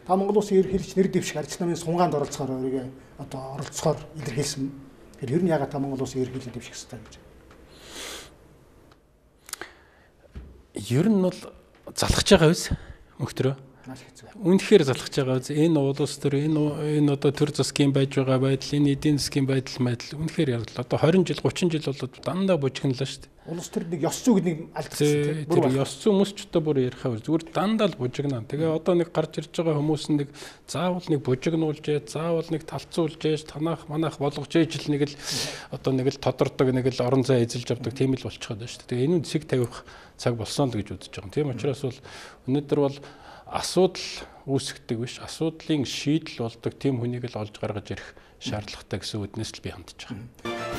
Та Монгол Улсын ерөнхийлөгч нэр дэвших арч намын сунгаанд оролцохоор өөрийгөө одоо оролцохоор илэрхийлсэн. Тэгэхээр ер нь ягаад та Монгол Улсын ерөнхийлөгч дэвших хэрэгтэй гэж? Ер нь бол залхаж байгаа биз мөхтрөө. Үнэхээр залхаж байгаа биз. Энэ улс төр энэ одоо төр засгийн байж байгаа байдал, энэ эдийн засгийн байдал үнэхээр ярлаа. Одоо 20 жил 30 жил болоод дандаа бужигналаа шүү дээ. Улс төр нэг ёс зүйг нэг алдчихсан. Тэр ёс зүй хүмүүсчтэй бүр ярихаа зүгээр дандаа л бужигнаа. Тэгээ одоо нэг гарч ирж байгаа хүмүүс нэг заавал нэг бужигнуулж, заавал нэг талцуулж, танах манах болгож ээж л нэг л одоо нэг л тодордог нэг л орон зай эзэлж авдаг тийм л болчиход байна шүү дээ. Тэгээ энэ зэг тавих цаг болсон л гэж үзэж байгаа. Тийм учраас бол өнөөдөр бол асуудал үүсгдэг биш, асуудлын шийдэл болдог тийм хүнийг л олж гаргаж ирэх шаардлагатай гэсэн үднээс л би хандж байгаа.